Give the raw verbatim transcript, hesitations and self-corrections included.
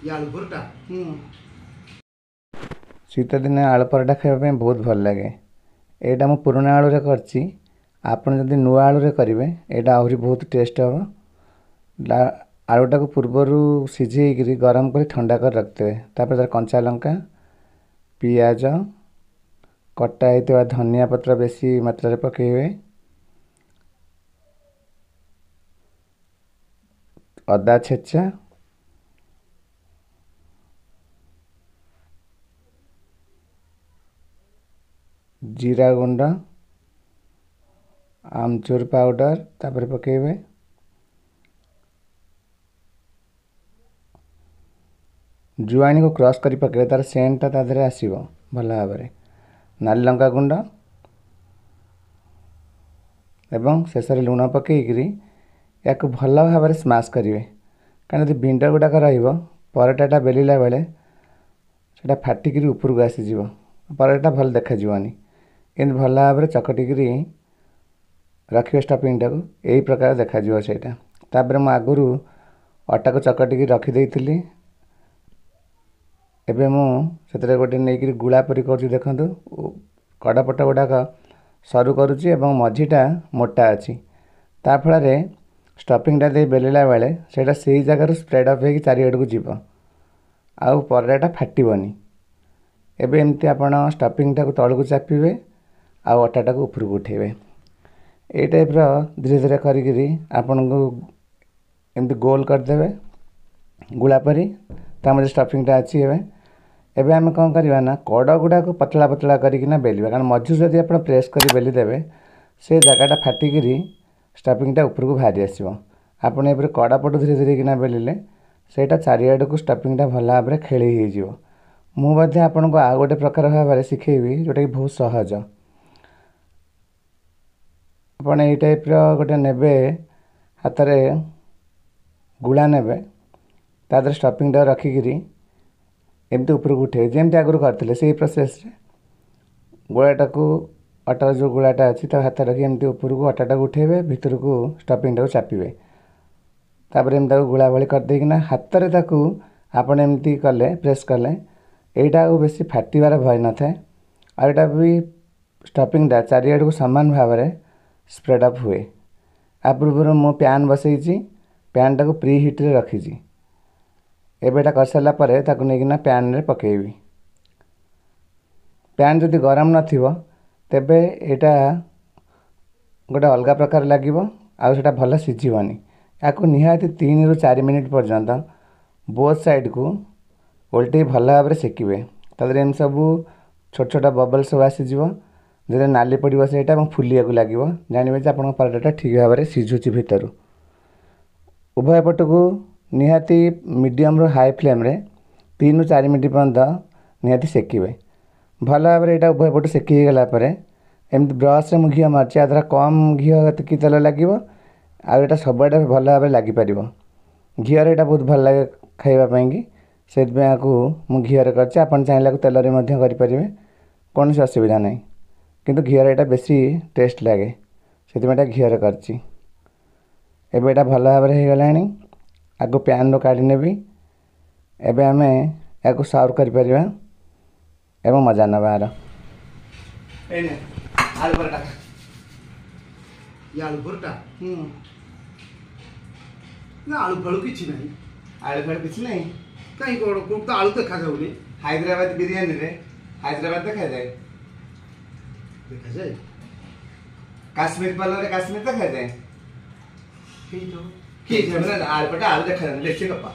ଇଏ ଆଳୁ ପରଟା। ହୁଁ। ଶୀତ ଦିନେ ଆଳୁ ପରଟା ଖାଇବା ପାଇଁ ବହୁତ ଭଲ ଲାଗେ। ଏଇଟା ମୁଁ ପୁରୁଣା ଆଳୁରେ କରିଛି। ଆପଣ ଯଦି ନୂଆ ଆଳୁରେ କରିବେ, ଏଇଟା ଆହୁରି ବହୁତ ଟେଷ୍ଟ ହେବ। ଆଳୁଟାକୁ ପୂର୍ବରୁ ସିଝେଇକିରି ଗରମ କରି ଥଣ୍ଡା କରି ରଖିଦେବେ। ତାପରେ ତାର କଞ୍ଚା ଲଙ୍କା, ପିଆଜ, କଟା ହେଇଥିବା ଧନିଆ ପତ୍ର ବେଶୀ ମାତ୍ରାରେ ପକାଇବେ, ଅଦା ଛେଚା, ଜିରା ଗୁଣ୍ଡ, ଆମଚୁର ପାଉଡ଼ର ତାପରେ ପକାଇବେ। ଜୁଆଣିକୁ କ୍ରସ୍ କରି ପକାଇବେ, ତାର ସେଣ୍ଟଟା ତା ଦେହରେ ଆସିବ ଭଲ ଭାବରେ। ନାଲି ଲଙ୍କା ଗୁଣ୍ଡ ଏବଂ ଶେଷରେ ଲୁଣ ପକାଇକିରି ୟାକୁ ଭଲ ଭାବରେ ସ୍ମାସ୍ କରିବେ, କାରଣ ଯଦି ବିଣ୍ଡ ଗୁଡ଼ାକ ରହିବ, ପରଟାଟା ବେଲିଲା ବେଳେ ସେଇଟା ଫାଟିକିରି ଉପରକୁ ଆସିଯିବ, ପରଟାଟା ଭଲ ଦେଖାଯିବନି। ଏମିତି ଭଲ ଭାବରେ ଚକଟିକିରି ରଖିବେ ଷ୍ଟଫିଂଟାକୁ, ଏଇ ପ୍ରକାର ଦେଖାଯିବ ସେଇଟା। ତାପରେ ମୁଁ ଆଗରୁ ଅଟାକୁ ଚକଟିକି ରଖିଦେଇଥିଲି। ଏବେ ମୁଁ ସେଥିରେ ଗୋଟେ ନେଇକିରି ଗୁଳା ପରି କରୁଛି। ଦେଖନ୍ତୁ, କଡ଼ପଟ ଗୁଡ଼ାକ ସରୁ କରୁଛି ଏବଂ ମଝିଟା ମୋଟା ଅଛି। ତା ଫଳରେ ଷ୍ଟଫିଂଟା ଦେଇ ବେଲିଲା ବେଳେ ସେଇଟା ସେଇ ଜାଗାରୁ ସ୍ପ୍ରେଡ଼୍ ଅପ୍ ହେଇକି ଚାରିଆଡ଼କୁ ଯିବ ଆଉ ପରଟାଟା ଫାଟିବନି। ଏବେ ଏମିତି ଆପଣ ଷ୍ଟଫିଂଟାକୁ ତଳକୁ ଚାପିବେ ଆଉ ଅଟାଟାକୁ ଉପରକୁ ଉଠେଇବେ। ଏଇ ଟାଇପ୍ର ଧୀରେ ଧୀରେ କରିକିରି ଆପଣଙ୍କୁ ଏମିତି ଗୋଲ କରିଦେବେ ଗୁଳା ପରି। ତା ମଝିରେ ଷ୍ଟଫିଂଟା ଅଛି। ଏବେ ଏବେ ଆମେ କ'ଣ କରିବା ନା କଡ଼ ଗୁଡ଼ାକୁ ପତଳା ପତଳା କରିକିନା ବେଲିବା, କାରଣ ମଝିରୁ ଯଦି ଆପଣ ପ୍ରେସ୍ କରି ବେଲି ଦେବେ, ସେ ଜାଗାଟା ଫାଟିକିରି ଷ୍ଟଫିଂଟା ଉପରକୁ ବାହାରି ଆସିବ। ଆପଣ ଏପରି କଡ଼ ପଟୁ ଧୀରେ ଧୀରେ କିନା ବେଲିଲେ ସେଇଟା ଚାରିଆଡ଼କୁ ଷ୍ଟଫିଂଟା ଭଲ ଭାବରେ ଖେଳେଇ ହେଇଯିବ। ମୁଁ ମଧ୍ୟ ଆପଣଙ୍କୁ ଆଉ ଗୋଟେ ପ୍ରକାର ଭାବରେ ଶିଖେଇବି, ଯେଉଁଟାକି ବହୁତ ସହଜ। ଆପଣ ଏଇ ଟାଇପ୍ର ଗୋଟେ ନେବେ, ହାତରେ ଗୁଳା ନେବେ, ତା ଦେହରେ ଷ୍ଟଫିଂଟା ରଖିକିରି ଏମିତି ଉପରକୁ ଉଠେଇବେ, ଯେମିତି ଆଗରୁ କରିଥିଲେ ସେଇ ପ୍ରୋସେସ୍ରେ। ଗୁଳାଟାକୁ, ଅଟାର ଯେଉଁ ଗୁଳାଟା ଅଛି, ତାକୁ ହାତରେ ରଖି ଏମିତି ଉପରକୁ ଅଟାଟାକୁ ଉଠେଇବେ, ଭିତରକୁ ଷ୍ଟଫିଂଟାକୁ ଚାପିବେ। ତାପରେ ଏମିତି ତାକୁ ଗୁଳା ଭଳି କରିଦେଇକିନା ହାତରେ ତାକୁ ଆପଣ ଏମିତି କଲେ, ପ୍ରେସ୍ କଲେ, ଏଇଟା ଆଉ ବେଶୀ ଫାଟିବାର ଭୟ ନଥାଏ ଆଉ ଏଇଟା ବି ଷ୍ଟଫିଂଟା ଚାରିଆଡ଼କୁ ସମାନ ଭାବରେ ସ୍ପ୍ରେଡ଼୍ ଅପ୍ ହୁଏ। ଆ ପୂର୍ବରୁ ମୁଁ ପ୍ୟାନ୍ ବସେଇଛି, ପ୍ୟାନ୍ଟାକୁ ପ୍ରି ହିଟ୍ରେ ରଖିଛି। ଏବେ ଏଇଟା କରିସାରିଲା ପରେ ତାକୁ ନେଇକିନା ପ୍ୟାନ୍ରେ ପକାଇବି। ପ୍ୟାନ୍ ଯଦି ଗରମ ନଥିବ, ତେବେ ଏଇଟା ଗୋଟେ ଅଲଗା ପ୍ରକାର ଲାଗିବ ଆଉ ସେଇଟା ଭଲ ସିଝିବନି। ଏହାକୁ ନିହାତି ତିନିରୁ ଚାରି ମିନିଟ୍ ପର୍ଯ୍ୟନ୍ତ ବୋଥ୍ ସାଇଡ଼୍କୁ ଓଲଟେଇ ଭଲ ଭାବରେ ସେକିବେ। ତା ଦେହରେ ଏମିତି ସବୁ ଛୋଟ ଛୋଟ ବବଲ୍ ସବୁ ଆସିଯିବ। ଯେତେବେଳେ ନାଲି ପଡ଼ିବ ସେଇଟା ଏବଂ ଫୁଲିବାକୁ ଲାଗିବ, ଜାଣିବେ ଯେ ଆପଣଙ୍କ ପରଟାଟା ଠିକ୍ ଭାବରେ ସିଝୁଛି ଭିତରୁ। ଉଭୟ ପଟକୁ ନିହାତି ମିଡ଼ିୟମରୁ ହାଇ ଫ୍ଲେମ୍ରେ ତିନିରୁ ଚାରି ମିନିଟ୍ ପର୍ଯ୍ୟନ୍ତ ନିହାତି ସେକିବେ ଭଲ ଭାବରେ। ଏଇଟା ଉଭୟ ପଟୁ ସେକି ହେଇଗଲା ପରେ ଏମିତି ବ୍ରସ୍ରେ ମୁଁ ଘିଅ ମାରୁଛି। ୟା ଦ୍ୱାରା କମ୍ ଘିଅ କି ତେଲ ଲାଗିବ ଆଉ ଏଇଟା ସବୁଆଡ଼େ ଭଲ ଭାବରେ ଲାଗିପାରିବ। ଘିଅରେ ଏଇଟା ବହୁତ ଭଲ ଲାଗେ ଖାଇବା ପାଇଁକି, ସେଥିପାଇଁ ଆକୁ ମୁଁ ଘିଅରେ କରିଛି। ଆପଣ ଚାହିଁଲେ ଆକୁ ତେଲରେ ମଧ୍ୟ କରିପାରିବେ, କୌଣସି ଅସୁବିଧା ନାହିଁ। କିନ୍ତୁ ଘିଅରେ ଏଇଟା ବେଶୀ ଟେଷ୍ଟ ଲାଗେ, ସେଥିପାଇଁ ଏଇଟା ଘିଅରେ କରିଛି। ଏବେ ଏଇଟା ଭଲ ଭାବରେ ହେଇଗଲାଣି, ଆକୁ ପ୍ୟାନ୍ରୁ କାଢ଼ି ନେବି। ଏବେ ଆମେ ଏହାକୁ ସର୍ଭ କରିପାରିବା ଏବଂ ମଜା ନେବା ଏହାର। ଏଇ ନେ ଆଳୁ ପରଟା। ଇଏ ଆଳୁ ପରଟା। ହୁଁ। ନା, ଆଳୁ ଫାଳୁ କିଛି ନାହିଁ। ଆଳୁ ଫାଳୁ କିଛି ନାହିଁ? କାହିଁ, କ'ଣ କୋଉଠି ତ ଆଳୁ ଦେଖାଯାଉନି। ହାଇଦ୍ରାବାଦ ବିରିୟାନୀରେ ହାଇଦ୍ରାବାଦ ଦେଖାଯାଏ? ଦେଖାଯାଏ। କାଶ୍ମୀର ପଲରେ କାଶ୍ମୀର ଦେଖାଯାଏ? ହେଇଥିବ। କି ଆଳୁ ପରଟା ଆଳୁ ଦେଖାଯାଉନି, ବେଶୀ ଗପ।